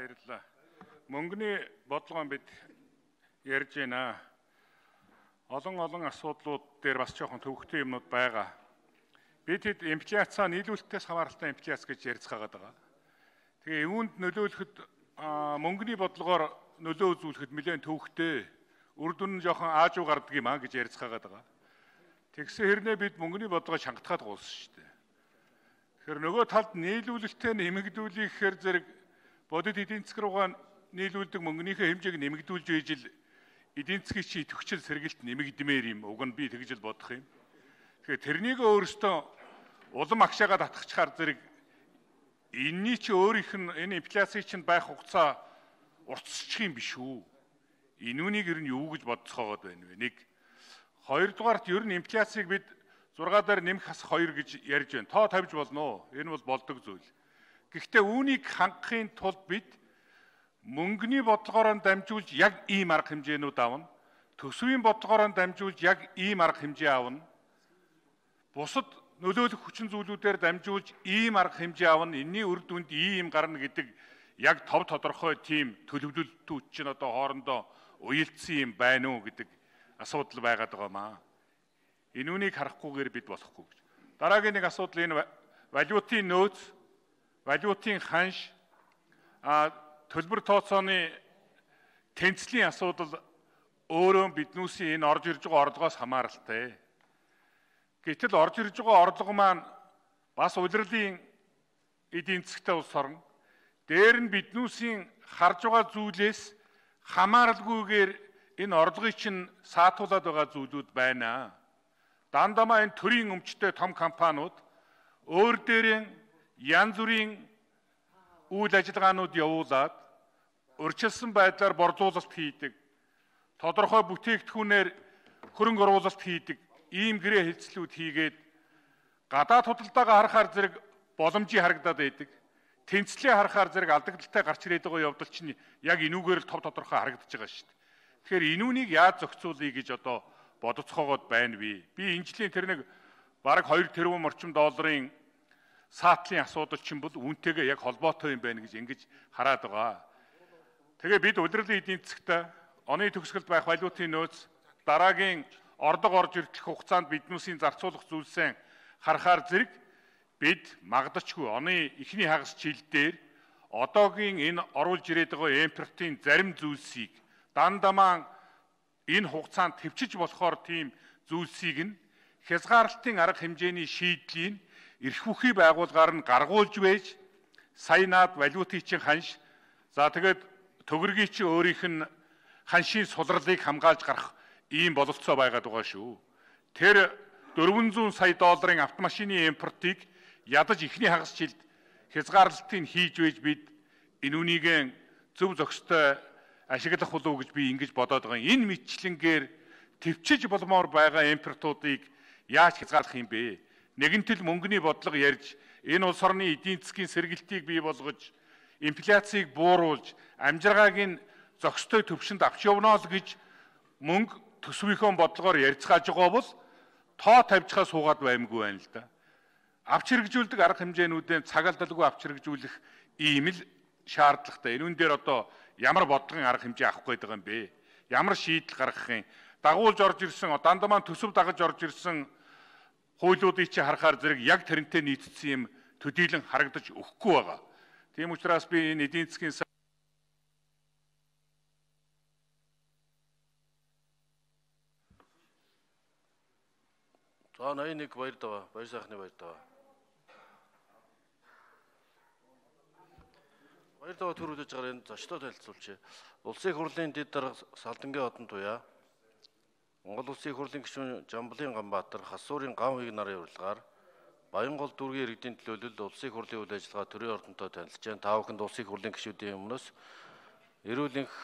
Баярлалаа. Мөнгөний бодлогоо бид ярьж байна. Олон асуудлууд дээр бас жоохон төвөгтэй юмнууд байгаа. Бид хэд инфляцаа нийлүүлэлтээс хамааралтай инфляц гэж ярьцгаагаад байгаа. Тэгээ юунд нөлөөлөхөд мөнгөний бодлогоор нөлөө үзүүлэхэд нэлээд төвөгтэй үр дүн нь жоохон аажуу гардаг юм а гэж ярьцгаагаад байгаа. Тэгсэн хэрнээ бид мөнгөний бодлогоо шангатгаад гуулсан шүү дээ. Тэгэхээр нөгөө талд нийлүүлэлтээ нэмэгдүүлэхээр зэрэг бодит эдийн засаг руугаа нийлүүлдэг мөнгөнийхөө хэмжээг нэмэгдүүлж ижил эдийн засгийн чи идэвхжил сэргэлт нэмэгдмээр юм. Уг нь би тэгж л бодох юм. Тэгэхээр тэрнийг өөрөөсөө улам агшаагаа татгахчаар зэрэг энэний чи өөрийнх нь энэ инфляцийн чинь байх хугацаа уртсчих юм биш үү? Энүүнийг ер нь юу гэж бодцоогоод байна вэ? Нэг. Хоёрдугаарт ер нь инфляцийг бид 6 дээр нэмэх хас 2 гэж ярьж байна. Тоо тавьж болно уу? Энэ бол болдог зүйл. Гэхдээ үүнийг хангахын тулд бид мөнгөний бодлогоор дамжуулж яг ийм арга хэмжээнүүд авна. Төсвийн бодлогоор дамжуулж яг ийм арга хэмжээ авна. Бусад нөлөөлөх хүчин зүйлүүдээр дамжуулж ийм арга хэмжээ авна. Энэний үр дүнд ийм гарна гэдэг яг тов тодорхой тийм төлөвлөлтүүд чинь одоо хоорондоо уялдсан юм байна уу гэдэг асуудал байгаад байгаамаа. Энүүнийг харахгүйгээр бид болохгүй гэж. Дараагийн нэг асуудал энэ валютын нөөц, валютын ханш, төлбөр тооцооны тэнцлийн асуудал өөрөө биднүүсийн энэ орж ирж байгаа орлогоос хамааралтай. Гэтэл орж ирж байгаа орлого маань бас улирлын эдийн засгтай улс орн. Дээр нь биднүүсийн харж байгаа зүйлээс хамааралгүйгээр энэ орлогыг чинь саатуулаад байгаа зүйлүүд байна. Дандамаа энэ төрийн өмчтэй том компаниуд өөр дээрээ янз бүрийн үйл ажиллагаанууд явуулаад урьдчилсан байдлаар борлуулалт хийдэг. Тодорхой бүтээгдэхүүнээр хөрөнгө оруулалт хийдэг. Ийм гэрээ хэлцлүүд хийгээд гадаад худалдаагаа харахаар зэрэг боломжийг харагдаад байдаг. Тэнцлээ харахаар зэрэг алдагдaltaй гарч ирээд байгаа явдал чинь яг энүүгээр л тов тодорхой харагдаж байгаа шүү дээ. Тэгэхээр энүүнийг яаж зохицуулъя гэж одоо бодоцоогоод байна би. Би энэ жилийн тэр нэг бараг 2 тэрбум орчим долларын саатлын асуудал чинь бол үүнтэйгээ яг холбоотой юм байна гэж ингэж хараад байгаа. Тэгээ бид улирлын эдийн засгт оны төгсгөлд байх валютын нөөц дараагийн орлого орж ирэх хугацаанд биднүүсийн зарцуулах зүйлсээ харахаар зэрэг бид магадчгүй оны эхний хагас жил дээр одоогийн энэ оруулж ирээд байгаа импортын зарим зүйлсийг дандамаа энэ хугацаанд төвчж болохоор тийм зүйлсийг нь хязгаарлалтын арга хэмжээний шийдлийн эрх бүхий байгууллагаар нь гаргуулж байж сая наад валютын чинь ханш за тэгээд төгрөгийн чинь өөрийнх нь ханшийн сулралыг хамгаалж гарах ийм бололцоо байгаад байгаа шүү. Тэр 400 сая долларын автомашины импортыг ядаж эхний хагас жилд хязгаарлалтыг хийж байж бид энүүнийг зөв зохистой ашиглах болов гэж би ингэж бодоод байгаа. Энэ мэтчлэнгээр төвчж болмоор байгаа импортуудыг яаж хязгаарлах юм бэ? Нэгэнтэл мөнгөний бодлого ярьж энэ улс орны эдийн засгийн сэргэлтийг бий болгож инфляцийг бууруулж амжиргааг нь зохистой төвшөнд авч явна л гэж мөнгө төсвийнхөө бодлогоор ярьцгааж байгаа бол тоо тавьчихаа суугаад баймгүй байна л да. Авч хэрэгжүүлдэг арга хэмжээнүүдээ цагаалдалгүй авч хэрэгжүүлэх ийм л шаардлагатай. Энүүн дээр одоо ямар бодлогын арга хэмжээ авах гээд байгаа юм бэ? Ямар шийдэл гаргах юм? Дагуулж орж ирсэн, дандамаа төсөв дагаж орж ирсэн хуулиудыг чи харахаар зэрэг яг тэрнтэй нийцсэн юм төдийлөн харагдаж өгөхгүй байгаа. Тийм учраас би энэ эдийн засгийн За 81 баяр даваа, баяр сайхны баяр даваа. Баяр даваа төрүүлж байгаа энэ зочлоо танилцуулъя. Улсын их хурлын дэд дарга Салдангийн одон туяа Монгол Улсын их хурлын гишүүн Жамблын Ганбаатар Хасуурын ган хуйг нарын урилгаар Баянгол дүүргийн иргэдийн төлөөлөлд улсын их хурлын үйл ажиллагаа төрийн ордонтой танилцж байна. Та бүхэнд улсын их хурлын гишүүдийн өмнөөс эрүүл энх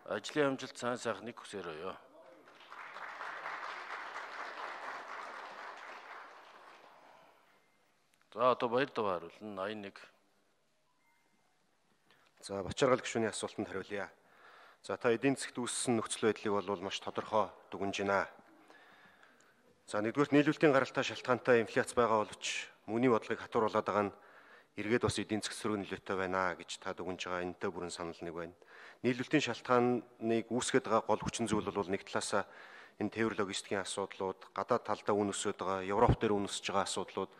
ажлын амжилт сайн сайхныг хүсээрөөё. За одоо баяр даваа хариулна 81. За Бачаргал гишүүний асуултанд хариулъя. За та эдийн засгт үүссэн нөхцөл байдлыг бол маш тодорхой дүгнэж байна. За нэгдүгээр нийлүүлэлтийн гаралтай шалтгаантай инфляц байгаа боловч мөнгөний бодлогыг хатууруулаад байгаа нь эргээд бас эдийн засгийн нөлөөтэй байна гэж та дүгнж байгаа энэтэй бүрэн санал нэг байна. Нийлүүлэлтийн шалтгааныг үүсгэж байгаа гол хүчин зүйл бол нэг талаасаа энэ тээвэр логистикийн асуудлууд, гадаад талдаа үн өсөж байгаа, Европ дээр үн өсөж байгаа асуудлууд,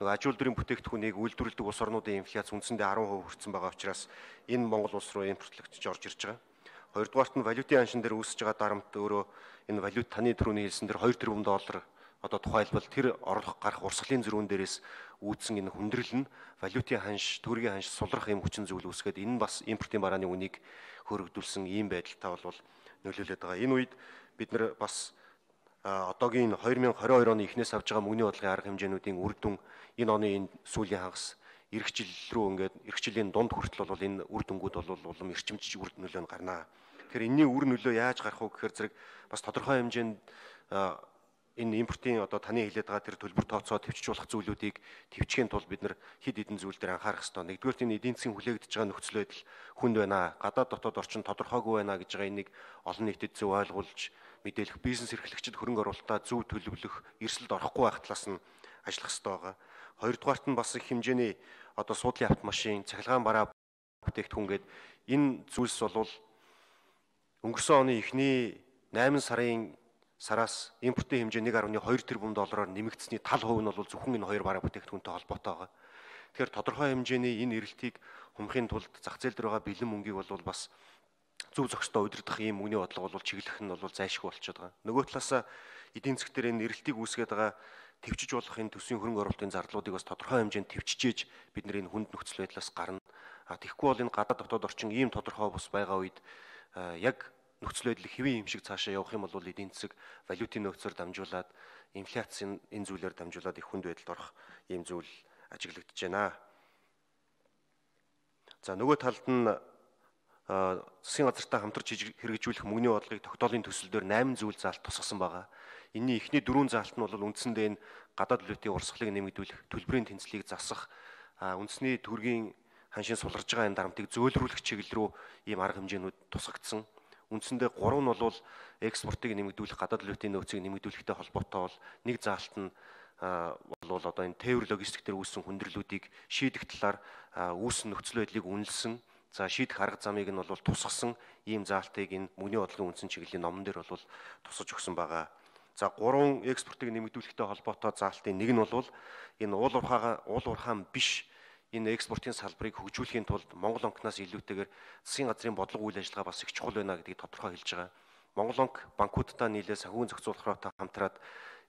нөгөө аж үйлдвэрийн бүтээгдэхүүнийг үйлдвэрлэдэг улс орнуудын инфляц үндсэндээ 10% хүрсэн байгаа учраас энэ Монгол улс руу импортлогдож орж ирж байгаа. Хоёрдугаарт нь валютын аншин дээр үүсэж байгаа дарамт өөрөө энэ валют таны түрүүний хэлсэн дээр 2 тэрбум доллар одоо тухайлбал тэр орлого гарах урсгалын зөрүүн дээрээс үүдсэн энэ хүндрэл нь валютын ханш, төгрөгийн ханш сулрах юм хүчин зүйл үүсгээд энэ бас импортын барааны үнийг хөргөдүүлсэн ийм байдалтай бол нөлөөлөд байгаа. Энэ үед бид нар бас одоогийн 2022 оны эхнээс авж байгаа мөнгөний бодлогын арга хэмжээнүүдийн үр дүн энэ оны энэ сүүлийн хагас эх жил рүү ингээд эх жилийн дунд хүртэл бол энэ үр дүнгууд бол улам эрчимжиж үр нөлөө нь гарнаа. Тэгэхээр энэний үр нөлөө яаж гарах вэ гэхээр зэрэг бас тодорхой хэмжээнд энэ импортын одоо таны хэлээд байгаа тэр төлбөр тооцоо төвчж болох зүйлүүдийг төвчхийн тулд бид нар хэд хэдэн зүйл дээр анхаарах хэрэгтэй. Нэгдүгээр энэ эдийн засгийн хүлээгдэж байгаа нөхцөл байдал хүнд байна. Гадаад дотоод орчин тодорхойгүй байна гэж байгаа энийг олон нийтэд зөв ойлгуулж мэдээлэх, бизнес эрхлэгчид хөрөнгө оруулалтаа зөв төлөвлөх, эрсдэлд орохгүй байх талаас нь ажиллах хэрэгтэй байгаа. Хоёрдугаарт нь бас их хэмжээний одоо суудлын автомашин, цахилгаан бараа бүтээгдэхүүн гээд энэ зүйлс бол өнгөрсөн оны эхний 8 сараас импортын хэмжээ 1.2 тэрбум доллараар нэмэгдсэний тал хувь нь бол зөвхөн энэ хоёр бараа бүтээгдэхүүнтэй холбоотой байгаа. Тэгэхээр тодорхой хэмжээний энэ эрэлтийг хумхын тулд зах зээл дээр байгаа бэлэн мөнгийг бол бас зөв зохистой удирдах ийм мөнгөний бодлого бол чиглэх нь бол зайлшгүй болчиход байгаа. Нөгөө талаасаа эдийн засаг дээр энэ эрэлтийг үүсгээд байгаа төвчж болох энэ төсвийн хөрөнгө оруулалтын зардалуудыг бас тодорхой хэмжээнд төвчжээж бид нар энэ хүнд нөхцөл байдлаас гарна. Тэгэхгүй бол энэ гадаад дотоод орчин ийм тодорхой бус байгаа үед яг нөхцөл байдал хэвийн юм шиг цаашаа явах юм бол эдийн засаг валютын нөөцөөр дамжуулаад инфляцийн энэ зүйлээр дамжуулаад их хүнд байдалд орох ийм зүйл ажиглагдаж байна. За нөгөө талд нь засгийн газартай хамтарч хэрэгжүүлэх мөнгөний бодлогыг тогтоолын төсөл дээр 8 зүйл заалт тусгасан байгаа. Энийн эхний 4 заалт нь бол үндсэндээ энэ гадаад валютын урсгалыг нэмэгдүүлэх, төлбөрийн тэнцлийг засах, үндэсний төгрөгийн ханшийн сулрж байгаа энэ дарамтыг зөөлрүүлэх чиглэл рүү ийм арга хэмжээнүүд тусгагдсан. Үндсэндээ 3 нь бол экспортыг нэмэгдүүлэх, гадаад валютын нөөцийг нэмэгдүүлэхтэй холбоотой бол нэг заалт нь бол одоо энэ тээвэр логистик дээр үүссэн хүндрэлүүдийг шийдэх талаар үүссэн нөхцөл байдлыг үнэлсэн. За шийдэх арга замыг нь бол тусгасан ийм заалтыг энэ мөнгөний бодлогын үндсэн чиглэлийн номон дээр бол тусгаж өгсөн байгаа. За 3 экспортыг нэмэгдүүлэхтэй холбоотой заалтын нэг нь бол энэ уул уурхаан биш энэ экспортын салбарыг хөгжүүлэхийн тулд Монгол банкнаас илүүтэйгээр засгийн газрын бодлого үйл ажиллагаа бас их чухал байна гэдгийг тодорхой хэлж байгаа. Монгол банк банкудтай нийлээ санхүүгийн зохицуулахтай хамтраад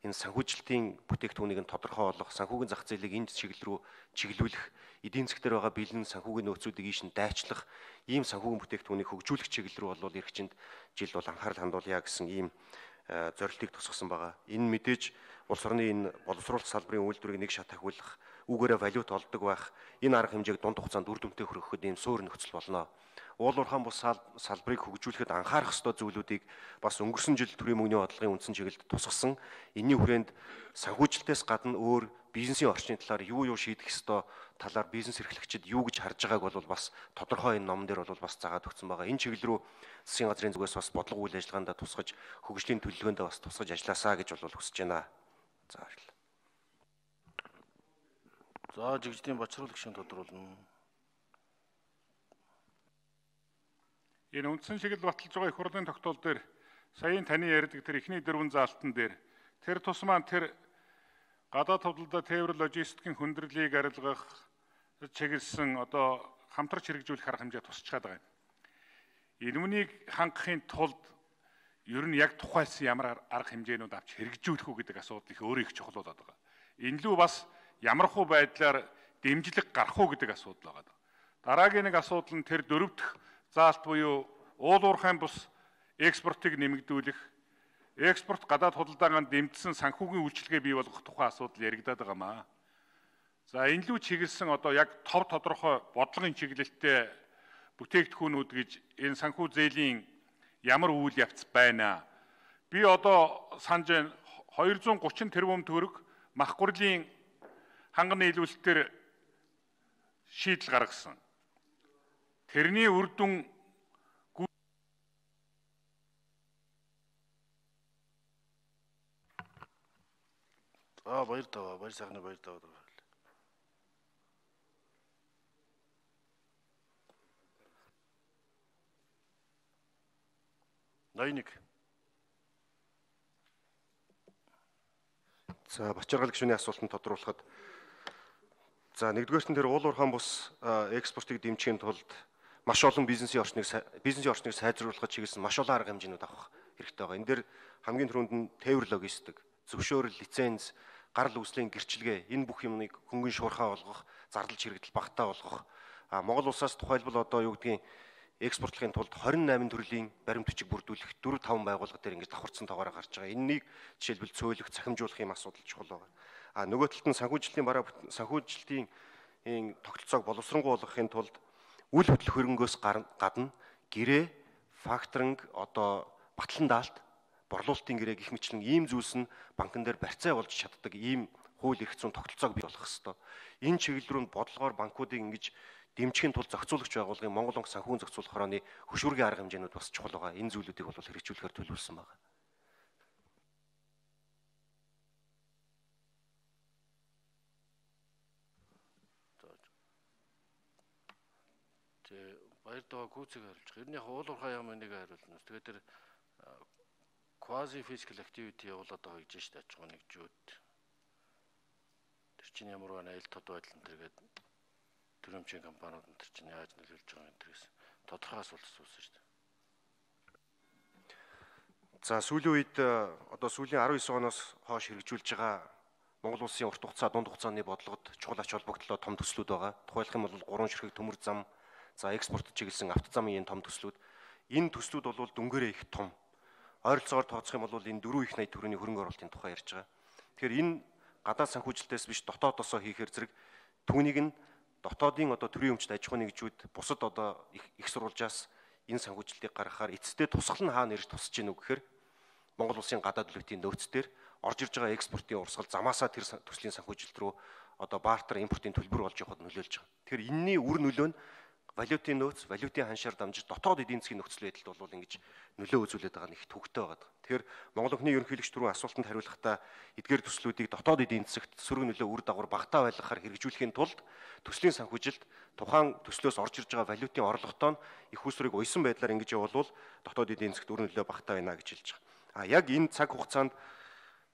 энэ санхүүжилтийн бүтээгдэхүүнийг нь тодорхой болгох, санхүүгийн зах зээлийг энэ чиглэл рүү чиглүүлэх, эдийн засаг дээр байгаа бэлэн санхүүгийн нөөцүүдийг ийш нь дайчлах, ийм санхүүгийн бүтээгдэхүүнийг хөгжүүлэх чиглэл рүү бол эрхчинд жил бол анхаарал хандуулъя гэсэн ийм зорилтыг тусгасан байгаа. Энэ мэдээж улс орны энэ боловсруулалт салбарын үйлдвэрийг нэг шат ахиулах, үүгээрээ валют олдог байх, энэ арга хэмжээг дунд хугацаанд үр дүнтэй хөргөхөд ийм суур нөхцөл болно. Уул уурхаан бус салбарыг хөгжүүлэхэд анхаарах ёстой зүйлүүдийг бас өнгөрсөн жил төрийн мөнгөний бодлогын үндсэн чиглэлд тусгасан. Энийн хүрээнд санхүүжилтээс гадна өөр бизнесийн орчны талаар юу шийдэх ёстой талаар бизнес эрхлэгчид юу гэж харж байгааг бол бас тодорхой энэ номон дээр бол бас заагаад өгсөн байгаа. Энэ чиглэл рүү засгийн газрын зүгээс бас бодлого үйл ажиллагаанд тусгаж, хөгжлийн төлөвлөгөөнд бас тусгаж ажилласаа гэж бол хүсэж байна. За баярлалаа. За жигждийн бачруулах шин тодруулна. Энэ үндсэн чиглэл баталж байгаа их хурлын тогтоол дээр саяын таны ярьдаг тэр эхний 4 заалтан дээр тэр тус маань тэр гадаад хувьлалда тээвэр логистикийн хүндрэлийг арилгах чиглэсэн одоо хамтарч хэрэгжүүлэх арга хэмжээ тусчаад байгаа юм. Энэнийг хангахын тулд ер нь яг тухайлсан ямар арга хэмжээнүүд авч хэрэгжүүлэх үү гэдэг асуудал их өөрөө их чухал болоод байгаа. Энэ лүү бас ямархуу байдлаар дэмжлэг гарах уу гэдэг асуудал байгаа. Дараагийн нэг асуудал нь тэр 4 дахь заалт буюу уул уурхайн бус экспортыг нэмэгдүүлэх, экспорт гадаад худалдаагаар дэмжсэн санхүүгийн үйлчилгээ бий болгох тухай асуудал яригадаад байгаамаа. За энэ лүү чиглэсэн одоо яг тов тодорхой бодлогын чиглэлтэй бүтээгдэхүүнүүд гэж энэ санхүү зээлийн ямар үйл явц байна. Би одоо санаж байна 230 тэрбум төгрөг мах гурлийн ханган нийлүүлэлтээр шийдэл гаргасан. Тэрний үр дүн баяр тава, баяр сайхны баяр тава. 81. За Бачаргал гишүүний асуултанд тодруулахад нэгдүгээрт нь тэр уул уурхайн бус экспортыг дэмжихийн тулд маш олон бизнесийн орчныг сайжруулахад чиглэсэн маш олон арга хэмжээнүүд авах хэрэгтэй байгаа. Энэ дээр хамгийн түрүүнд нь тээвэр логистик, зөвшөөрөл, лиценз, гарал үүслийн гэрчилгээ энэ бүх юмныг хөнгөн шуурхаа болгох, зардал чирэгдэл багтаа болгох. Монгол улсаас тухайлбал одоо юу гэдгийг экспортлохын тулд 28 төрлийн баримт бичиг бүрдүүлэх 4-5 байгууллага дээр ингэж давхарцсан тоогоор гарч байгаа. Энэнийг жишээлбэл цөөлөх, цахимжуулах юм асуудал чухал байгаа. Нөгөө талд нь санхүүжилтийн тогтолцоог боловсронгуй болгохын тулд үл хөдлөх хөрөнгөөс гадна гэрээ, факторинг, одоо батлан даалт, борлуулалтын гэрээ гэх мэтлэн ийм зүйлс нь банкн дээр барьцаа болж чаддаг ийм хууль эрх зүйн тогтолцоог бий болгох ёстой. Энэ чиглэл рүү бодлогоор банкуудыг ингэж дэмжихийн тулд зохицуулагч байгууллагын Монгол банк санхүүн зохицуулах хорооны хөшүүргийн арга хэмжээнүүд бас чухал байгаа. Энэ зүйлүүдийг бол хэрэгжүүлэхээр төлөвлөсөн байна. Баярдаа гүйцээг хариулж байгаа. Ер нь яг уул уурхай яам энийг хариулна. Тэгээд тэр quasi physical activity явуулаад байгаа гэж байна шүү дээ. Аж ахуйн нэгжүүд. Тэр чинь ямар байна айл тод байдал энэ төргээд төрөмчийн компаниуд энэ чинь яаж нөлөөлж байгаа юм тэрээс тодорхой асуулт асуусан шүү дээ. За сүүлийн үед одоо сүүлийн 19 оноос хойш хэрэгжүүлж байгаа Монгол улсын урт хугацаа, дунд хугацааны бодлогод чухал ач холбогдлоо том төслүүд байгаа. Тухайлх юм бол 3 ширхэг төмөр зам, за экспорт чиглэсэн автозамын том төслүүд. Энэ төслүүд бол дүнгээрээ их том. Ойролцоогоор тооцох юм бол энэ 4 их 80 төгрөгийн хөрөнгө оруулалтын тухай ярьж байгаа. Тэгэхээр энэ гадаад санхүүжилтээс биш дотоодосоо хийхээр зэрэг түүнийг нь дотоодын одоо төрийн өмчт аж ахуйн нэгжүүд бусад одоо их сурвалжаас энэ санхүүжилтийг гаргахаар эцэстээ тусгал нь хаана ирж тусаж гинүү гэхээр Монгол улсын гадаад төлөвтийн нөөц дээр орж ирж байгаа экспортын урсгал замаасаа тэр төслийн санхүүжилт рүү одоо бартер импортын төлбөр болж явахад нөлөөлж байгаа. Тэгэхээр энэний үр нөлөө нь валютын нөөц, валютын ханшаар дамжиж дотоод эдийн засгийн нөхцөл байдалд бол ингэж нөлөө үзүүлээд байгаа нь их төвөгтэй байгаа. Тэгэхээр Монгол Банкны ерөнхийлөгч түрүүн асуултанд хариулахдаа эдгээр төслүүдийг дотоод эдийн засагт сөрөг нөлөө үр дагавар багтаа байлгахаар хэрэгжүүлэхийн тулд төслийн санхүүжилт тухайн төслөөс орж ирж байгаа валютын орлоготоо их усрыг уйсан байдлаар ингэж явуулвал дотоод эдийн засагт үр нөлөө багтаа байна гэж хэлж байгаа. Яг энэ цаг хугацаанд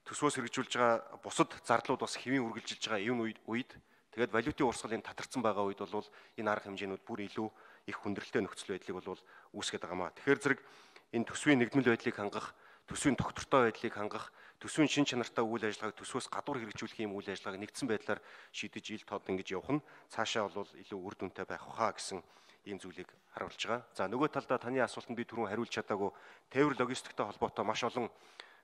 төсвөөс хэрэгжүүлж байгаа бусад зардлууд бас хэвийн үргэлжилж байгаа энэ үед тэгээд валютын урсгалын татарсан байгаа үед бол энэ арга хэмжээнүүд бүр илүү их хүндрэлтэй нөхцөл байдлыг бол үүсгэж байгаа маа. Тэгэхээр зэрэг энэ төсвийн нэгдмэл байдлыг хангах, төсвийн тогтвортой байдлыг хангах, төсвийн шин чанартай үйл ажиллагааг төсвөөс гадуур хэрэгжүүлэх юм үйл ажиллагааг нэгдсэн байдлаар шийдэж ил тод ингэж явах нь цаашаа бол илүү үр дүнтэй байх хаа гэсэн ийм зүйлийг харуулж байгаа. За нөгөө талдаа таны асуултанд би түрүүн хариулж чадаагүй тээвэр логистиктэй холбоотой маш олон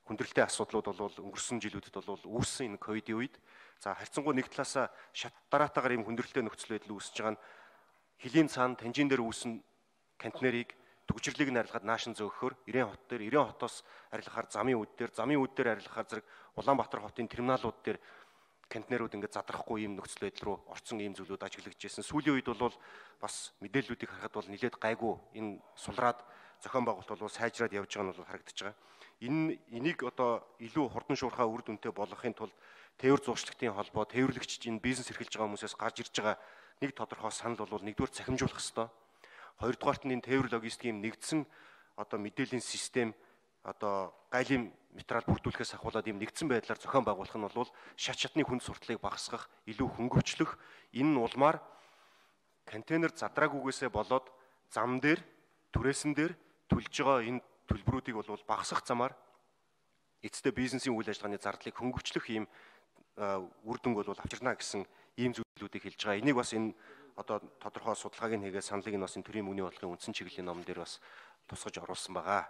хүндрэлтэй асуудлууд бол өнгөрсөн жилүүдэд бол үүссэн энэ ковидын үед за харьцангуй нэг талаасаа шат дараатаагаар ийм хүндрэлтэй нөхцөл байдал үүсэж байгаа нь хилийн цаана танжин дээр үүсэн контейнерыг төгжрлийг нь арилгаад наашин зөөгөхөөр Ирээн хот дээр Ирээн хотоос арилгахаар замын үүд дээр арилгахаар зэрэг Улаанбаатар хотын терминалууд дээр контейнерууд ингээд задрахгүй ийм нөхцөл байдал руу орсон ийм зүйлүүд ажиглагдчихсэн. Сүүлийн үед бол бас мэдээллүүдийг харахад бол нэлээд гайгүй энэ сулраад зохион байгуулалт бол сайжраад явж байгаа нь бол харагдаж байгаа. Энийг одоо илүү хурдан шуурхаа үр дүнтэй болгохын тулд тээвэр зуршлагтын холбоо, тээвэрлэгч энэ бизнес эрхэлж байгаа хүмүүсээс гарч ирж байгаа нэг тодорхой санал бол нэгдүгээр цахимжуулах ёстой. Хоёрдугаарт нь энэ тээвэр логистикийн нэгдсэн одоо мэдээллийн систем одоо гайлын материал бүрдүүлэхээс ахуулаад ийм нэгдсэн байдлаар зохион байгуулах нь бол шат шатны хүнд сурталыг багасгах, илүү хөнгөвчлөх, энэ нь улмаар контейнер задраагүйгээсээ болоод зам дээр, түрээсэн дээр төлж байгаа энэ төлбөрүүдийг бол багасгах замаар эцэстээ бизнесийн үйл ажиллагааны зардлыг хөнгөвчлөх ийм үр дүнг бол авчирна гэсэн ийм зүйлүүдийг хэлж байгаа. Энийг бас энэ одоо тодорхой судалгааг нь хийгээд саналыг нь бас энэ төрийн мөнгөний бодлогын үндсэн чиглэлийн номон дээр бас тусгаж оруулсан байгаа.